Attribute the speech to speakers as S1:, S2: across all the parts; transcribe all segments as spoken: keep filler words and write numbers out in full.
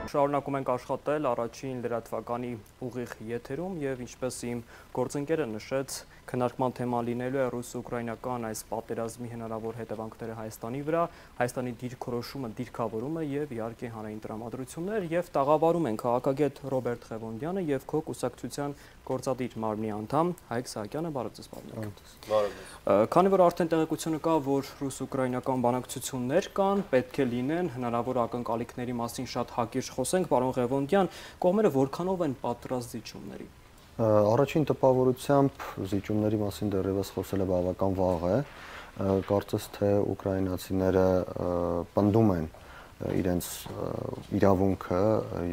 S1: Շարունակում ենք աշխատել առաջին լրատվականի ուղիղ եթերում եւ ինչպես իմ գործընկերը նշեց, քննարկման թեման լինելու է ռուս-ուկրաինական այս պատերազմի հնարավոր հետևանքները Հայաստանի վրա, Հայաստանի դիրքորոշումը, դիրքավորումը եւ իհարկե հանրային տրամադրություններ եւ տաղավարում են քաղաքագետ Ռոբերտ Ղևոնդյանը եւ քո կուսակցության գործադիր մարմնի անդամ Հայկ Սահակյանը, բարև ձեզ բարեկամներ։ Քանի որ արդեն տեղեկությունը կա, որ ռուս-ուկրաինական բանակցություններ կան, պետք է լինեն հնարավոր ակնկալիքների մասին շատ հակիրճ խոսենք, պարոն Ղևոնդյան, կողմերը որքանով են պատրաստ զիջումների։
S2: Առաջին տպավորությամբ զիջումների մասին դեռևս խոսելը բավական վաղ է, կարծես թե ուկրաինացիները պնդում են իրենց իրավունքը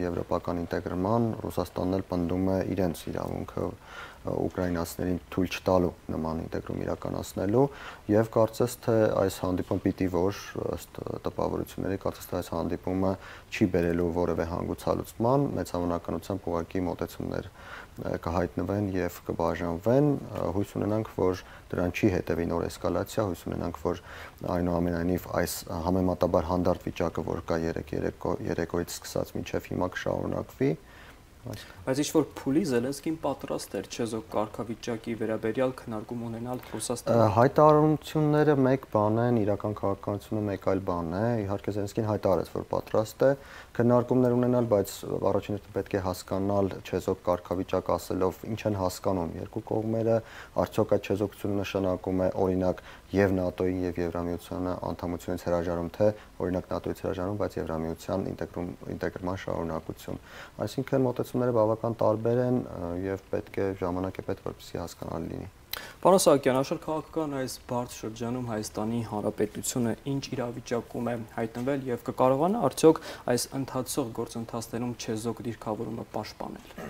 S2: եվրոպական ինտեգրման, Ռուսաստանն էլ պնդում է իրենց իրավունքը ուկրաինացիներին թույլ չտալու նման ինտեգրում իրականացնելու եւ կարծես թե այս հանդիպումը պիտի որ ըստ տպավորությունների կարծես թե այս հանդիպումը չի բերելու որևէ հանգուցալուծման, մեծ հավանականությամբ ուղղակի մոտեցումներ կհայտնվեն եւ կբաժանվեն, հույս ունենանք, որ դրան չի հետևի նոր էսկալացիա, հույս ունենանք, որ այնուամենայնիվ այս համեմատաբար հանդարտ վիճակը, որ կա երեկոյից սկսած մինչև հիմա կշարունակվի։
S1: Բայց ինչ որ փուլի Զելենսկին պատրաստ էր չեզոք կարգավիճակի վերաբերյալ քննարկում ունենալ Ռուսաստանը։
S2: Հայտարարությունները մեկ բան են, իրական քաղաքականությունը մեկ այլ բան է։ Իհարկե Զելենսկին հայտարարեց, որ պատրաստ է քննարկումներ ունենալ, բայց առաջին հերթին պետք է հասկանալ չեզոք կարգավիճակ ասելով ինչ են հասկանում երկու կողմերը, արդյոք այդ չեզոքությունը նշանակում է օրինակ եւ ՆԱՏՕ-ի եւ Եվրամիությանը անդամությունից հրաժարում, թե օրինակ ՆԱՏՕ-ից հրաժարում, բայց Եվրամիության ինտեգրում ինտեգրման շարունակություն։ Այսինքն մոտեցումները բավական տարբեր են եւ պետք է ժամանակ է պետք որպեսզի հասկանալի լինի։
S1: Պարոն Սահակյան, աշխարհաքաղաքական այս բարդ շրջանում Հայաստանի Հանրապետությունը ինչ իրավիճակում է հայտնվել եւ կկարողանա արդյոք այս ընթացող գործընթացներում չեզոք դիրքավորումը պաշտպանել։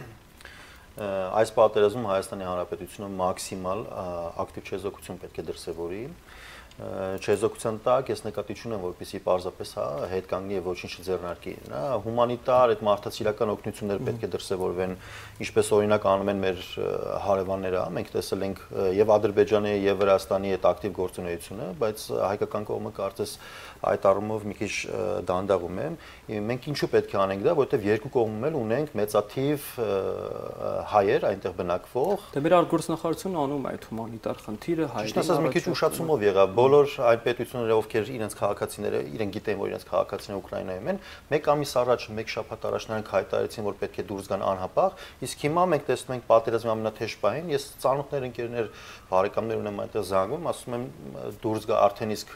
S3: Այս պատերազմում Հայաստանի Հանրապետությունը մաքսիմալ ակտիվ չեզոքություն պետք է դրսևորի։ Չեզոքության տակ ես նկատի չունեմ, որպեսզի պարզապես հետ կանգնի եւ ոչինչ չձեռնարկի։ Հումանիտար այդ մարդասիրական օգնությունները պետք է դրսևորվեն, ինչպես օրինակ անում են մեր հարևանները, մենք տեսել ենք եւ Ադրբեջանի եւ Վրաստանի այդ ակտիվ գործունեությունը, բայց հայկական կողմը կարծես այդ առումով մի քիչ դանդաղում է։ Մենք ինչու պետք է անենք դա, որովհետեւ երկու կողմում էլ ունենք մեծաթիվ հայեր այնտեղ բնակվող։
S1: Դե մեր արտգործնախարարությունը անում է այդ հումանիտար խնդիրը, հայերին։
S3: Ճիշտ ասած, մի քիչ ուշացումով եղավ։ Բոլոր այն պետությունները, ովքեր իրենց քաղաքացիները, իրենք գիտեն, որ իրենց քաղաքացիները Ուկրաինայում են, մեկ ամիս առաջ, մեկ շաբաթ առաջ նրանք հայտարարեցին, որ պետք է դուրս գան անհապաղ, իսկ հիմա մենք տեսնում ենք պատերազմի ամենաթեժ պահին, ես ծանոթներ ընկերներ, բարեկամներ ունեմ այնտեղ զանգում, ասում եմ դուրս գա արդեն իսկ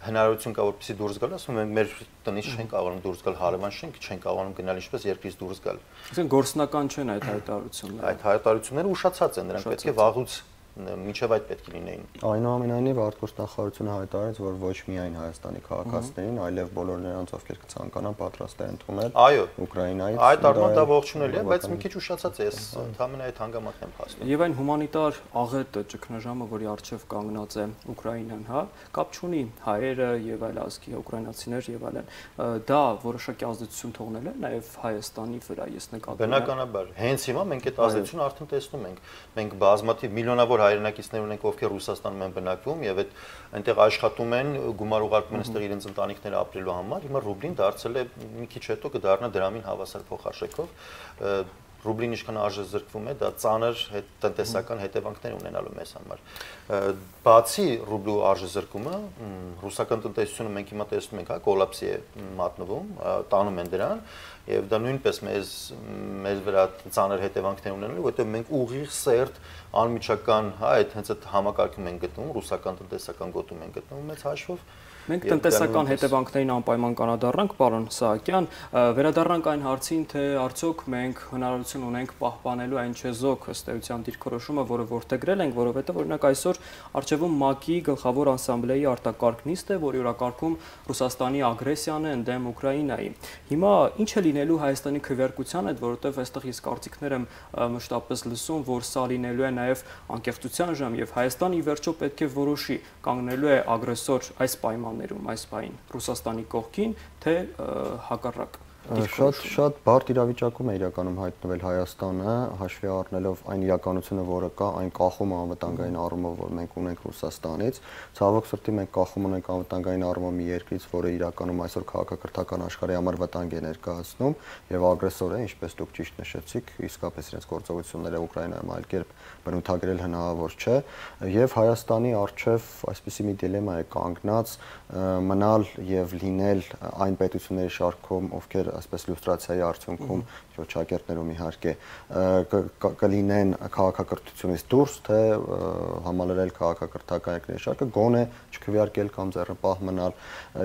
S3: հնարավորություն կա որպեսզի դուրս գալ, ասում ենք մեր տնից չեն կարողանում դուրս գալ, հարևան շենք չեն կարողանում գնալ, ինչպես երկրից դուրս գալ։
S1: Այսինքն գործնական չեն այդ հայտարարությունները։
S3: Այդ հայտարարությունները ուշացած են, նրանք պետք է վաղուց մինչև այդ պետք է լինեին։
S2: Այնուամենայնիվ արտգործնախարարությունը հայտարարեց, որ ոչ միայն Հայաստանի քաղաքացիներին, այլև բոլոր նրանց, ովքեր կցանկանան, պատրաստ է ընդունել Ուկրաինայից։
S3: Այդ առումով դա ողջունել է, բայց մի քիչ ուշացած է, ես ընդհանրապես այդ հանգամանքն եմ փաստում։
S1: Եվ այն հումանիտար աղետը, ճգնաժամը, որի առջև կանգնած է Ուկրաինան, հա, կապ չունի հայերը եւ այլ ազգի ուկրաինացիներ եւ այլն։ Դա որոշակի ազդեցություն թողնել է նաեւ Հայաստանի վրա, ես նկատում եմ։
S3: Բնականաբար, հենց հիմա մենք այդ ազդեցությունը արդեն տեսնում ենք։ Մենք բազմաթիվ միլիոնավոր հայրենակիցներ ունենք, ովքեր Ռուսաստանում են բնակվում եւ այդ այնտեղ աշխատում են, գումար ուղարկում են այստեղ իրենց ընտանիքները ապրելու համար։ Հիմա ռուբլին դարձել է մի քիչ հետո կդառնա դրամին հավասար փոխարժեքով։ Ռուբլին ինչքան արժեզրկվում է, դա ծանր տնտեսական հետևանքներ ունենալու մեզ համար։ Բացի ռուբլու արժեզրկումը, ռուսական տնտեսությունը մենք հիմա տեսնում ենք, հա, կոլապսի է մատնվում, տանում են դրան, եւ դա նույնպես մեզ մեր վրա ծանր հետևանքներ ունենալու, որովհետեւ մենք ուղիղ սերտ անմիջական, հա, այդ հենց այդ համակարգում են գտնվում, ռուսական տնտեսական գոտում են գտնվում մեծ հաշվով։
S1: Մենք տնտեսական հետևանքներին անպայման կանադառնանք, պարոն Սահակյան, վերադառնանք այն հարցին, թե արդյոք մենք հնարավորություն ունենք պահպանելու այն չեզոք ըստ էության դիրքորոշումը, որը որդեգրել ենք, որովհետև օրինակ այսօր առջևում ՄԱԿ-ի գլխավոր ասամբլեայի արտակարգ նիստ է, որի օրակարգում Ռուսաստանի ագրեսիան է ընդդեմ Ուկրաինայի։ Հիմա ինչ է լինելու Հայաստանի քվեարկության հետ, որովհետև այստեղ ես կարծիքներ եմ մշտապես լսում, որ սա լինելու է նաև անկեղծության ժամ եւ Հայաստանը ի վերջո պետք է որոշի կանգնելու է ագրեսոր այս պայմաններում, այս պահին Ռուսաստանի կողքին, թե հակառակ։
S2: Շատ շատ բարդ իրավիճակում է իրականում հայտնվել Հայաստանը, հաշվի առնելով այն իրականությունը, որը կա, այն կախումը անվտանգային առումով, որ մենք ունենք Ռուսաստանից, ցավոք սրտի մենք կախում ունենք անվտանգային առումով մի երկրից, որը իրականում այսօր քաղաքակրթական աշխարհի համար վտանգ է ներկայացնում եւ ագրեսոր է, ինչպես դուք ճիշտ նշեցիք, իսկապես իրենց գործողությունները Ուկրաինայում այլ կերպ բնութագրել հնարավոր չէ, եւ Հայաստանի առջեւ այսպիսի մի դիլեմա է կանգնած մնալ եւ լինել այն պետությունների շարքում, ովքեր այսպես լյուստրացիայի արդյունքում ճոճակերտներում իհարկե կլինեն քաղաքակրթությունից դուրս, թե համալրել քաղաքակրթական երկրների շարքը, գոնե չքվեարկել կամ ձեռնպահ մնալ։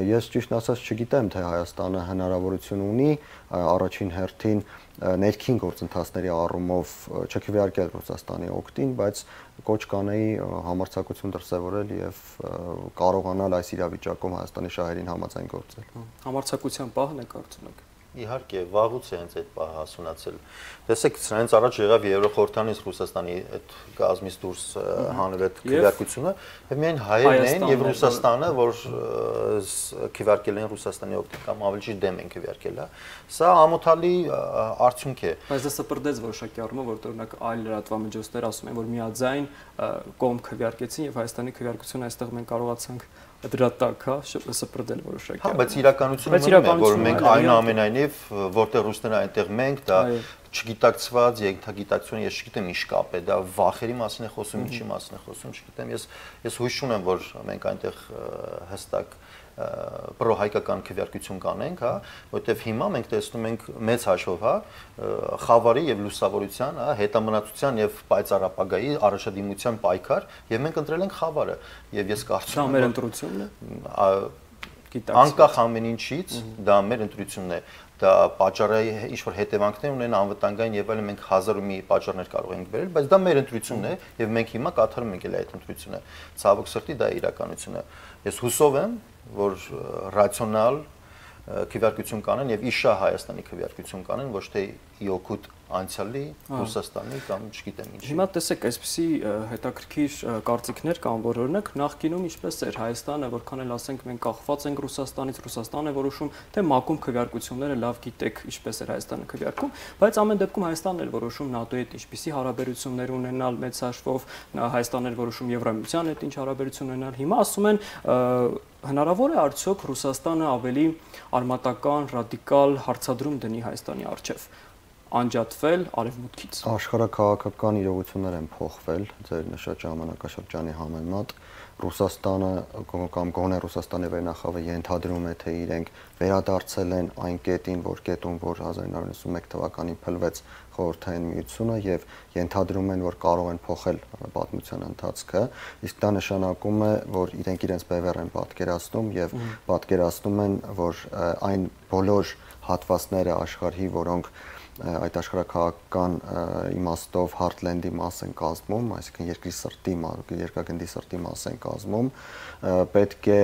S2: Ես ճիշտ ասած չգիտեմ, թե Հայաստանը հնարավորություն ունի առաջին հերթին ներքին գործընթացների առումով չքվեարկել Ռուսաստանի օգտին, բայց կոչ կանեի համարձակություն դրսևորել եւ կարողանալ այս իրավիճակում Հայաստանի շահերին համաձայն գործել։
S1: Համարձակության պահն է կարծում եք։
S3: Իհարկե, վաղուց է հենց այդ պահը հասունացել։ Տեսեք, սրանից առաջ եղավ Եվրոխորհրդանից Ռուսաստանի այդ գազմից դուրս հանել այդ քվեարկությունը, եւ միայն հայերն էին եւ Ռուսաստանը, որ քվեարկել են Ռուսաստանի օգտին կամ ավելի ճիշտ դեմ են քվեարկել, հա։ Սա ամոթալի արդյունք է։
S1: Բայց դա սպրդեց որոշակի առումով, որ օրինակ այլ լրատվամիջոցներ ասում են, որ միաձայն կողմ քվեարկեցին եւ Հայաստանի քվեարկությունը այստեղ մենք կարողացանք դրա տակ, հա, սպրդել որոշակի։
S3: Հա, բայց իրականությունը մնում է, որ մենք այնուամենայնիվ, որտեղ ռուսները այնտեղ մենք, դա չգիտակցված ենթագիտակցություն, ես չգիտեմ ինչ կապ է, դա վախերի մասին է խոսում, ինչի մասին է խոսում, չգիտեմ, ես ես հույս ունեմ, որ մենք այնտեղ հստակ պրոհայկական քվեարկություն կանենք, հա, որտեղ հիմա մենք տեսնում ենք մեծ հաշվով, հա, խավարի եւ լուսավորության, հա, հետամնացության եւ պայծառապագայի առաջադիմության պայքար, եւ մենք ընտրել ենք խավարը, եւ ես կարծում
S1: եմ, դա մեր ընտրությունն է։
S3: Անկախ ամեն ինչից, դա մեր ընտրությունն է։ Դա պատճառի ինչ որ հետևանքներ ունեն անվտանգային եւ այլն, մենք հազար ու մի պատճառներ կարող ենք վերել, բայց դա մեր ընտրությունն է եւ մենք հիմա կատարում ենք այդ ընտրությունը։ Ցավոք սրտի դա իրականություն է։ Ես հուսով եմ, որ ռացիոնալ քվեարկություն կանեն եւ իշա Հայաստանի քվեարկություն կանեն, ոչ թե իօքուտ անցյալի Ռուսաստանի կամ չգիտեմ ինչ։
S1: Հիմա տեսեք, այսպիսի հետաքրքիր կարծիքներ կան, որ օրինակ նախկինում ինչպես էր Հայաստանը, որքան էլ ասենք մենք կախված ենք Ռուսաստանից, Ռուսաստանն է որոշում, թե մակում քվեարկությունները լավ գիտեք ինչպես էր Հայաստանը քվեարկում, բայց ամեն դեպքում Հայաստանն էր որոշում ՆԱՏՕ-ի հետ ինչպիսի հարաբերություններ ունենալ մեծ հաշվով, Հայաստանն էր որոշում Եվրամիության հետ ինչ հարաբերություն ունենալ։ Հիմա ասում են հնարավոր է արդյոք Ռուսաստանը ավելի արմատական, ռադիկալ հարցադրում դնի Հայաստանի առջև, անջատվել արևմուտքից։
S2: Աշխարհաքաղաքական իրողություններ են փոխվել ձեր նշած ժամանակաշրջանի համեմատ։ Ռուսաստանը կամ գոնե Ռուսաստանի վերնախավը ենթադրում է, թե իրենք վերադարձել են այն կետին, որ կետում, որ հազար իննսուն ութ թվականին փլվեց Խորհրդային Միությունը եւ ենթադրում են, որ կարող են փոխել պատմության ընթացքը, իսկ դա նշանակում է, որ իրենք իրենց բևեռ են պատկերացնում եւ պատկերացնում են, որ այն բոլոր հատվածները աշխարհի, որոնք այդ աշխարհաքաղաքական իմաստով Heartland-ի մաս են կազմում, այսինքն երկրի սրտի, երկրագնդի սրտի մաս են կազմում, պետք է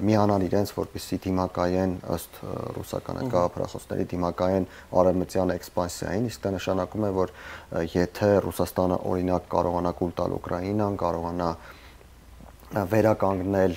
S2: միանան իրենց, որպեսզի դիմակայեն ըստ ռուսական գաղափարախոսների դիմակայեն արևմտյան էքսպանսիային, իսկ դա նշանակում է, որ եթե Ռուսաստանը օրինակ կարողանա կուլ տալ Ուկրաինան, կարողանա վերականգնել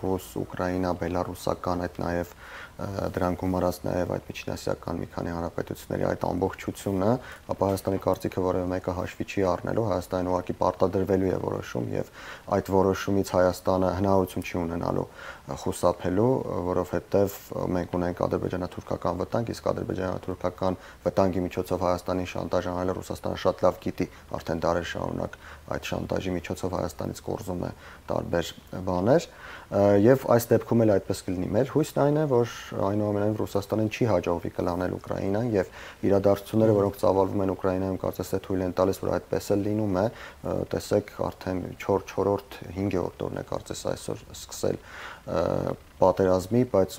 S2: ռուս-ուկրաինա, բելարուսական, այդ նաև դրան գումարած նաև այդ միջինասիական մի քանի հանրապետությունների այդ ամբողջությունը, ապա Հայաստանի կարծիքը որևէ մեկը հաշվի չի առնելու, Հայաստանը ուղղակի պարտադրվելու է որոշում եւ այդ որոշումից Հայաստանը հնարավորություն չի ունենալու խուսափելու, որովհետեւ մենք ունենք ադրբեջանա-թուրքական վտանգ, իսկ ադրբեջանա-թուրքական վտանգի միջոցով Հայաստանին շանտաժ անելը Ռուսաստանը շատ լավ գիտի, արդեն դարեր շարունակ այդ շանտաժի միջոցով Հայաստանից կորզում է տարբեր բաներ եւ այս դեպքում էլ այդպես կլինի։ Մեր հույսն այն է, որ այնուամենայնիվ Ռուսաստանին չի հաջողվի կլանել Ուկրաինան եւ իրադարձությունները, որոնք ծավալվում են Ուկրաինայում, կարծես թե թույլ են տալիս, որ այդպես էլ լինում է, տեսեք արդեն չորրորդ, հինգերորդ օրն է կարծես այսօր սկսել պատերազմի, բայց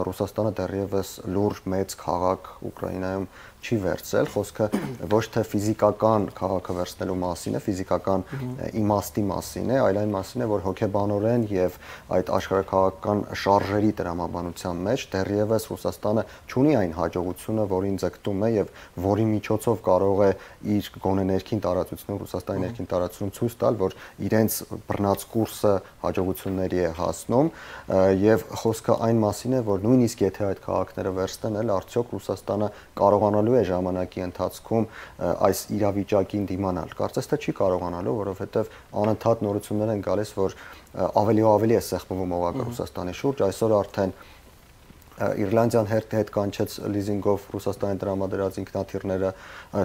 S2: Ռուսաստանը դեռևս լուրջ մեծ քաղաք Ուկրաինայում չի վերցրել, խոսքը ոչ թե ֆիզիկական քաղաքը վերցնելու մասին է, ֆիզիկական իմաստի մասին է, այլ այն մասին է, որ հոգեբանորեն եւ այդ աշխարհաքաղաքական շարժերի տրամաբանության մեջ դեռևս Ռուսաստանը չունի այն հաջողությունը, որին ձգտում է եւ որի միջոցով կարող է իր գոնե ներքին տարածությունում, Ռուսաստանի ներքին տարածությունում ցույց տալ, որ իրենց բռնած կուրսը հաջողությունների է հասնում եւ խոսքը այն մասին է, որ նույնիսկ եթե այդ քաղաքները վերցնեն, էլ արդյոք Ռուսաստանը կարողանալու է ժամանակի ընթացքում այս իրավիճակին դիմանալ։ Կարծես թե չի կարողանալու, որովհետեւ անընդհատ նորություններ են գալիս, որ ավելի ու ավելի է սեղմվում օղակը Ռուսաստանի շուրջ, այսօր արդեն Իռլանդիան հետ հետ կանչեց լիզինգով Ռուսաստանի տրամադրած ինքնաթիռները,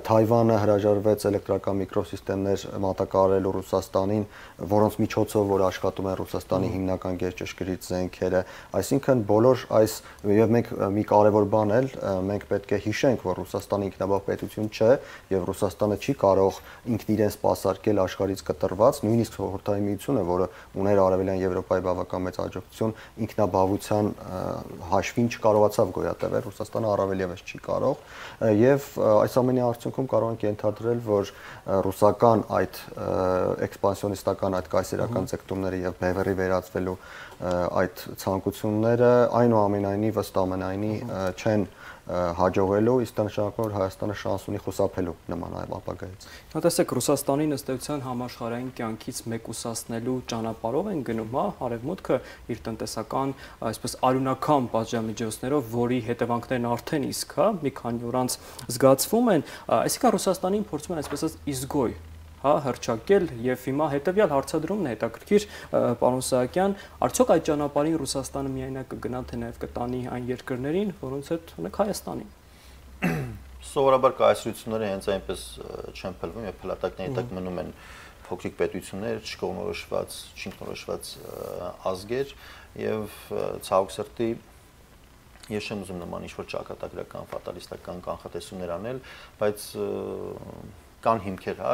S2: Թայվանը հրաժարվեց էլեկտրական միկրոսիստեմներ մատակարարելու Ռուսաստանին, որոնց միջոցով որ աշխատում են Ռուսաստանի հիմնական գերճշգրիտ զենքերը, այսինքն բոլոր այս եւ մենք մի կարևոր բան էլ մենք պետք է հիշենք, որ Ռուսաստանը ինքնաբավ պետություն չէ եւ Ռուսաստանը չի կարող ինքն իրեն սպասարկել աշխարհից կտրված, նույնիսկ Խորհրդային Միությունը, որը ուներ Արևելյան Եվրոպայի բավական մեծ աջակցություն, ինքնաբավության հաշվին չկարողացավ գոյատևել, Ռուսաստանը առավել եւս չի կարող եւ այս ամենի արդյունքում կարող ենք ենթադրել, որ ռուսական այդ էքսպանսիոնիստական այդ կայսերական ձգտումները եւ բևեռի վերածվելու այդ ցանկությունները այնուամենայնիվ ըստ ամենայնի չեն հաջողելու, իսկ դա նշանակում է, որ Հայաստանը շանս ունի խուսափելու նման այլ ապագայից։
S1: Նա տեսեք, Ռուսաստանի ըստ էության համաշխարհային կյանքից մեկուսացնելու ճանապարհով են գնում, հա, Արևմուտքը իր տնտեսական, այսպես արյունական պատժամիջոցներով, որի հետևանքներն արդեն իսկ, հա, մի քանի օր անց զգացվում են, այսինքն Ռուսաստանին փորձում են այսպես իսգոյ հա հրճակել եւ հիմա հետեւյալ հարցադրումն է հետաքրքիր պարոն Սահակյան, արդյոք այդ ճանապարհին Ռուսաստանը միայնակ կգնա թե նաեւ կտանի այն երկրներին, որոնց հետ ունեք Հայաստանին։
S3: Սովորաբար կայսրությունները հենց այնպես չեն փլվում եւ փլատակների տակ մնում են փոքրիկ պետություններ, չկողմնորոշված, չինքնորոշված ազգեր եւ ցավոք սրտի ես չեմ ուզում նման ինչ-որ ճակատագրական, ֆատալիստական կանխատեսումներ անել, բայց կան հիմքեր, հա,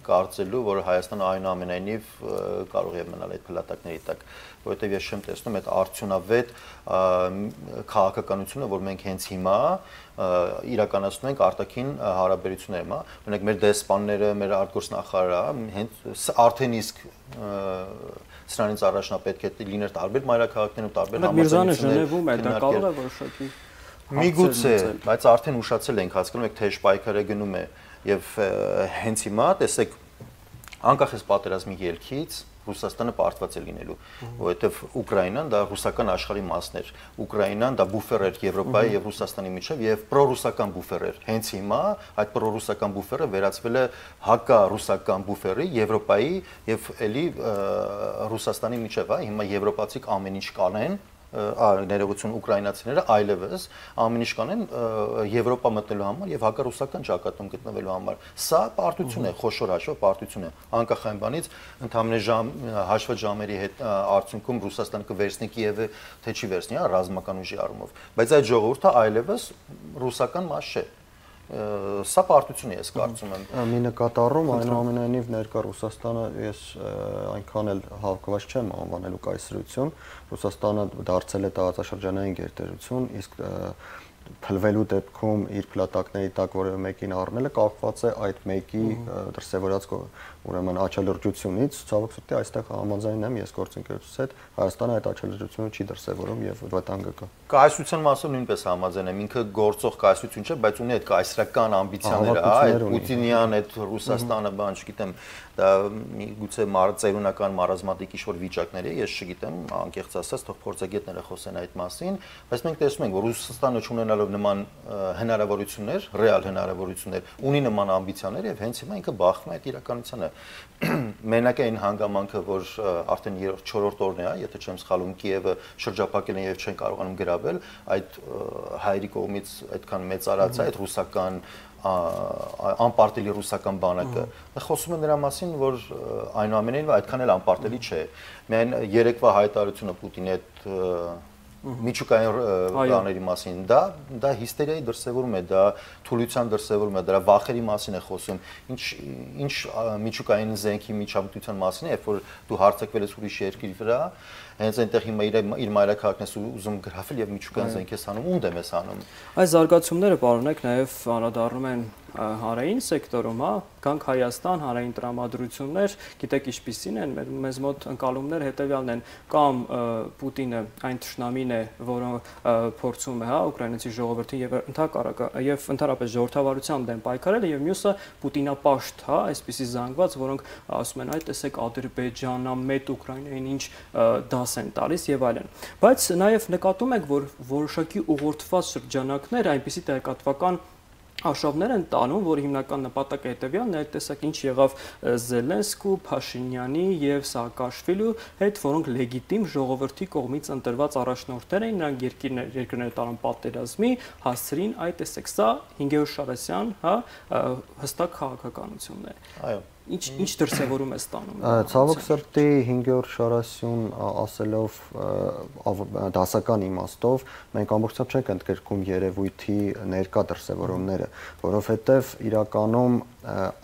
S3: կարծելու, որ Հայաստանը այնուամենայնիվ կարող է մնալ այդ փլատակների տակ, որովհետև ես չեմ տեսնում այդ արդյունավետ քաղաքականությունը, որ մենք հենց հիմա իրականացնում ենք արտաքին հարաբերություններում, հա, օրինակ մեր դեսպանները, մեր արտգործնախարարը հենց արդեն իսկ սրանից առաջնապետք է լիներ տարբեր մայրաքաղաքներում, տարբեր
S1: համաձայնություններ։ Միrzանը Ժնևում է, դա կարող է որոշակի
S3: միգուցե, բայց արդեն ուշացել ենք, հասկանում եք, թե պայքարը գնում է եւ հենց հիմա տեսեք անկախ էս պատերազմի ելքից Ռուսաստանը պարտված է լինելու, որովհետեւ Ուկրաինան դա ռուսական աշխարհի մասն էր, Ուկրաինան դա բուֆեր էր Եվրոպայի եւ Ռուսաստանի միջեւ եւ պրոռուսական բուֆեր էր։ Հենց հիմա այդ պրոռուսական բուֆերը վերածվել է հակառուսական բուֆերի Եվրոպայի եւ էլի Ռուսաստանի միջեւ, հա, հիմա եվրոպացիք ամեն ինչ կանեն ներողություն ուկրաինացիները այլևս ամեն ինչ կանեն Եվրոպա մտնելու համար եւ հակառուսական ճակատում գտնվելու համար։ Սա պարտություն է, խոշոր հաշվով պարտություն է։ Անկախ այն բանից, ընդհանրապես ժամ հաշվված ժամերի հետ արդյունքում Ռուսաստանը կվերցնի Կիևը, թե չի վերցնի, հա, ռազմական ուժի առումով։ Բայց այդ ժողովուրդը այլևս ռուսական մաս չէ։ Սա պարտություն է, ես կարծում եմ։
S2: Մի նկատառում այնուամենայնիվ ներկա Ռուսաստանը ես այնքան էլ հավաքված չեմ անվանելու կայսրություն, Ռուսաստանը դարձել է տարածաշրջանային գերտերություն, իսկ փլվելու դեպքում իր փլատակների տակ որևէ մեկին առնելը կապված է այդ մեկի դրսևորած ուրեմն աչալրջությունից, ցավոք սրտի այստեղ համաձայն եմ ես գործընկերությունից հետ, Հայաստանը այդ աչալրջությունը չի դրսևորում եւ վտանգը կա։
S3: Կայսրության մասով նույնպես համաձայն եմ, ինքը գործող կայսրություն չէ, բայց ունի այդ կայսրական ամբիցիաները, այդ Պուտինյան, այդ Ռուսաստանը, բան, չգիտեմ, դա միգուցե ծերունական մարազմատիկ ինչ-որ վիճակներ է, ես չգիտեմ, անկեղծ ասած, թող փորձագետները խոսեն այդ մասին, բայց մենք տեսնում ենք, որ Ռուսաստանը չունենալով նման հնարավորություններ, ռեալ հնարավորություններ, ունի նման ամբիցիաներ եւ հենց հիմա ինքը բախվում է այդ իրականությանը։ Մենակ այն հանգամանքը, որ արդեն չորրորդ օրն է, եթե չեմ սխալվում, Կիևը շրջափակել են եւ չեն կարողանում գրավել, այդ հայերի կողմից այդքան մեծարած է այդ ռուսական անպարտելի ռուսական բանակը։ Խոսում է նրա մասին, որ այնուամենայնիվ այդքան էլ անպարտելի չէ։ Միայն երեկվա հայտարարությունը Պուտինի այդ միջուկային բաների մասին, դա դա հիստերիայի դրսևորում է, դա թուլության դրսևորում է, դրա վախերի մասին է խոսում։ Ինչ ինչ միջուկային զենքի միջամտության մասին է, երբ որ դու հարձակվել ես ուրիշ երկրի վրա, հենց այնտեղ հիմա իր իր մայրաքաղաքն ես ուզում գրավել եւ միջուկային զենք ես անում, ո՞ւմ դեմ ես անում։
S1: Այս զարգացումները, պարոնեք, նաեւ անդրադառնում են հանրային սեկտորում, հա, գանք Հայաստան, հանրային տրամադրություններ, գիտեք ինչպիսին են, մեզ մոտ ընկալումներ հետևյալն են, կամ Պուտինը այն թշնամին է, որը փորձում է, հա, ուկրաինացի ժողովրդին եւ եւ ընդհանրապես ժողովրդավարության դեմ պայքարել եւ մյուսը Պուտինապաշտ, հա, այսպիսի զանգված, որոնք ասում են, այ տեսեք Ադրբեջանա մեծ Ուկրաինային ինչ դաս են տալիս եւ այլն։ Բայց նաեւ նկատում եք, որ որոշակի ուղղորդված շրջանակներ այնպիսի տեղեկատվական Աշավներ են տանում, որ հիմնական նպատակը հետևյալն է, տեսակ ինչ եղավ Զելենսկու, Փաշինյանի եւ Սաակաշվիլու հետ, որոնք լեգիտիմ ժողովրդի կողմից ընտրված առաջնորդներ էին, նրանք երկիրներ երկրները տարան պատերազմի, հասցրին, այ տեսեք, սա Հինգեոր Շարասյան, հա, հստակ քաղաքականությունն է։
S3: Այո։
S1: Ինչ ինչ դրսևորում է ստանում։
S2: Ցավոք սրտի Հինգեոր Շարասյուն ասելով դասական իմաստով մենք ամբողջությամբ չենք ընդգրկում երևույթի ներկա դրսևորումները, որովհետև իրականում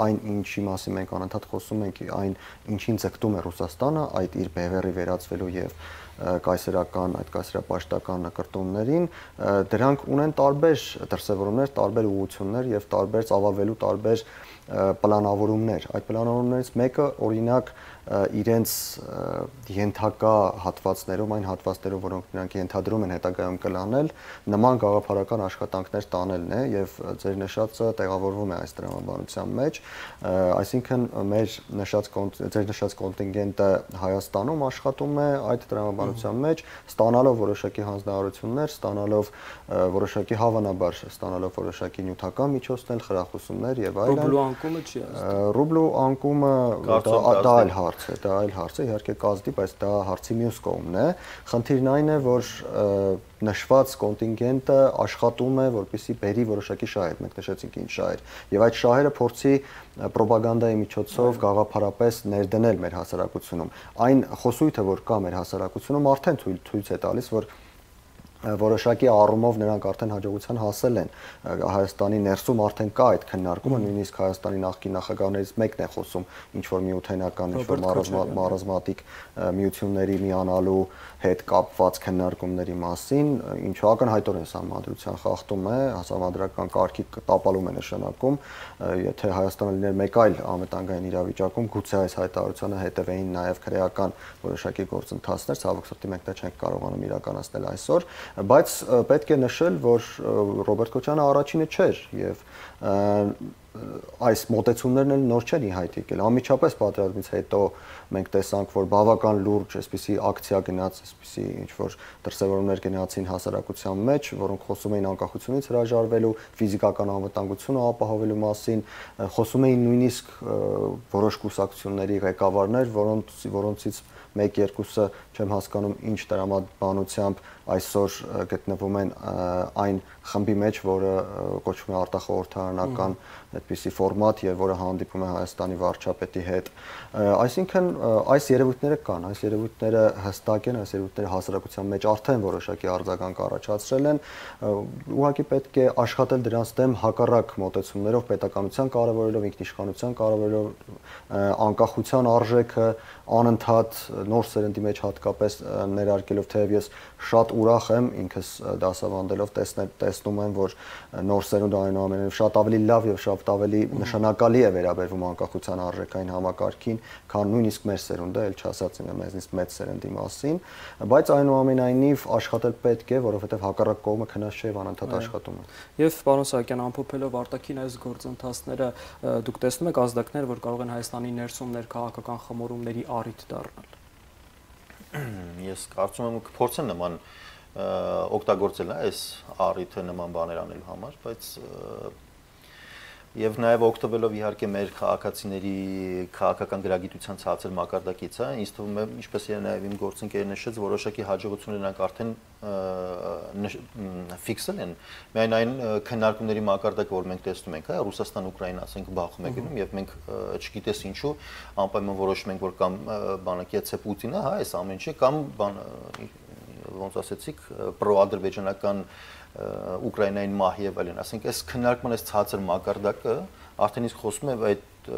S2: այն ինչի մասին մենք անընդհատ խոսում ենք, այն ինչին ձգտում է Ռուսաստանը, այդ իր բևեռի վերածվելու եւ կայսերական այդ կայսերապաշտական նկարտումներին, դրանք ունեն տարբեր դրսևորումներ, տարբեր ուղղություններ եւ տարբեր ծավալվելու տարբեր պլանավորումներ։ Այդ պլանավորումներից մեկը օրինակ իրենց ենթակա հատվածներում, այն հատվածներով, որոնք նրանք ենթադրում են հետագայում կլանել, նման գաղափարական աշխատանքներ տանելն է եւ ձեր նշածը տեղավորվում է այս տրամաբանության մեջ, այսինքն մեր նշած ձեր նշած կոնտինգենտը Հայաստանում աշխատում է այդ տրամաբանության մեջ, ստանալով որոշակի հանձնարարություններ, ստանալով որոշակի հավանաբար ստանալով որոշակի նյութական միջոցներ, խրախուսումներ եւ այլն։
S1: Ռուբլու անկումը չի ազդում։
S2: Ռուբլու անկումը դա այլ հարց է, դա այլ հարց է, իհարկե կազդի, բայց դա հարցի մյուս կողմն է։ Խնդիրն այն է, որ նշված կոնտինգենտը աշխատում է, որպեսզի բերի որոշակի շահեր, մենք նշեցինք ինչ շահեր, եւ այդ շահերը փորձի պրոպագանդայի միջոցով գաղափարապես ներդնել մեր հասարակությունում։ Այն խոսույթը, որ կա մեր հասարակությունում, արդեն ցույց է տալիս, որ որոշակի առումով նրանք արդեն հաջողության հասել են Հայաստանի ներսում արդեն կա այդ քննարկումը, նույնիսկ Հայաստանի նախկին նախագահներից մեկն է խոսում ինչ որ միութենական, ինչ որ մարազմատիկ միությունների միանալու հետ կապված քննարկումների մասին, ինչը ակնհայտորեն սահմանադրության խախտում է, համանդրական կարգի տապալում է նշանակում, եթե Հայաստանը լիներ մեկ այլ անվտանգային իրավիճակում, գուցե այս հայտարարությանը հետևեին նաև քրեական որոշակի գործընթացներ, ցավոք սրտի մենք դա չենք կարողանում իրականացնել այսօր, բայց պետք է նշել, որ Ռոբերտ Քոչյանը առաջինը չէր եւ այս մոտեցումներն էլ նոր չեն ի հայտ եկել։ Անմիջապես պատերազմից հետո մենք տեսանք, որ բավական լուրջ այսպիսի ակցիա գնաց, այսպիսի ինչ որ դրսևորումներ գնացին հասարակության մեջ, որոնք խոսում էին անկախությունից հրաժարվելու, ֆիզիկական անվտանգությունը ապահովելու մասին, խոսում էին նույնիսկ որոշ կուսակցությունների ղեկավարներ, որոնց որոնցից մեկ-երկուսը չեմ հասկանում ինչ տրամաբանությամբ այսօր գտնվում են այն խմբի մեջ, որը կոչվում է արտախորհրդարանական այդպիսի ֆորմատ եւ որը հանդիպում է Հայաստանի վարչապետի հետ։ Այսինքն այս երևույթները կան, այս երևույթները հստակ են, այս երևույթները հասարակության մեջ արդեն որոշակի արձագանք առաջացրել են, ուղղակի պետք է աշխատել դրանց դեմ հակառակ մոտեցումներով, պետականության կարևորելով, ինքնիշխանության կարևորելով, անկախության արժեքը անընդհատ նոր սերնդի մեջ հատկապես ներարկելով, թեև ես շատ ուրախ եմ ինքս դասավանդելով տեսնում եմ, որ նոր սերունդը այնուամենայնիվ շատ ավելի լավ եւ շատ ավելի նշանակալի է վերաբերվում անկախության արժեքային համակարգին, քան նույնիսկ մեր սերունդը, ել չասած եմ մեզնից մեծ սերնդի մասին, բայց այնուամենայնիվ աշխատել պետք է, որովհետեւ հակառակ կողմը քնած չէ եւ անընդհատ աշխատում է։
S1: Եվ պարոն Սահակյան, ամփոփելով արտաքին այս գործընթացները, դուք տեսնում եք ազդակներ, որ կարող են Հայաստանի ներսում ներքաղաքական խմորումների առիթ դառնալ։
S3: Ես կարծում եմ կփորձեն նման օգտագործել այս առիթը նման բաներ անելու համար, բայց եւ նաեւ օգտվելով իհարկե մեր քաղաքացիների քաղաքական գրագիտության ցածր մակարդակից, հա, ինձ թվում է, ինչպես եւ նաեւ իմ գործընկերը նշեց, որոշակի հաջողություններ նրանք արդեն ֆիքսել են։ Միայն այն քննարկումների մակարդակը, որ մենք տեսնում ենք, հա, Ռուսաստան-Ուկրաինա, ասենք, բախում է գնում եւ մենք չգիտես ինչու անպայման որոշում ենք, որ կամ բանակիացե Պուտինը, հա, այս ամեն ինչը կամ բան ոնց ասեցիք, պրոադրբեջանական Ուկրաինային մահ եւ այլն, ասենք, այս քննարկման այս ցածր մակարդակը արդեն իսկ խոսում է այդ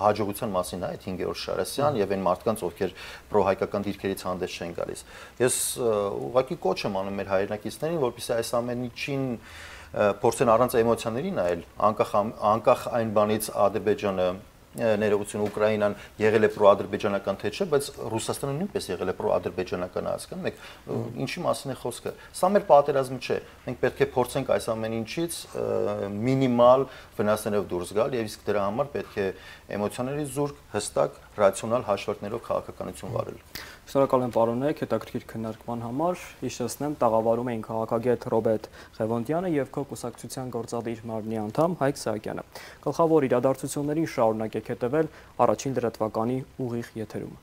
S3: հաջողության մասին է այդ հինգերորդ Շարասյան եւ այն մարդկանց, ովքեր պրոհայկական դիրքերից հանդես չեն գալիս։ Ես ուղղակի կոչ եմ անում մեր հայրենակիցներին, որպեսզի այս ամեն ինչին փորձեն առանց էմոցիաների նայել, անկախ անկախ այն բանից Ադրբեջանը ներողություն Ուկրաինան եղել է պրոադրբեջանական թե չէ, բայց Ռուսաստանը նույնպես եղել է պրոադրբեջանական, հասկանում եք, ինչի մասին է խոսքը։ Սա մեր պատերազմը չէ։ Մենք պետք է փորձենք այս ամեն ինչից մինիմալ վնասներով դուրս գալ եւ իսկ դրա համար պետք է էմոցիաների զուրկ, հստակ, ռացիոնալ հաշվարկներով քաղաքականություն վարել։
S1: Շնորհակալ եմ պարոններ հետաքրքիր քննարկման համար։ Հիշեցնեմ, տաղավարում էին քաղաքագետ Ռոբերտ Ղևոնդյանը եւ քո կուսակցության գործադիր մարմնի անդամ Հայկ Սահակյանը։ Գլխավոր իրադարձություններին շարունակեք հետևել առաջին լրատվականի ուղիղ եթերում։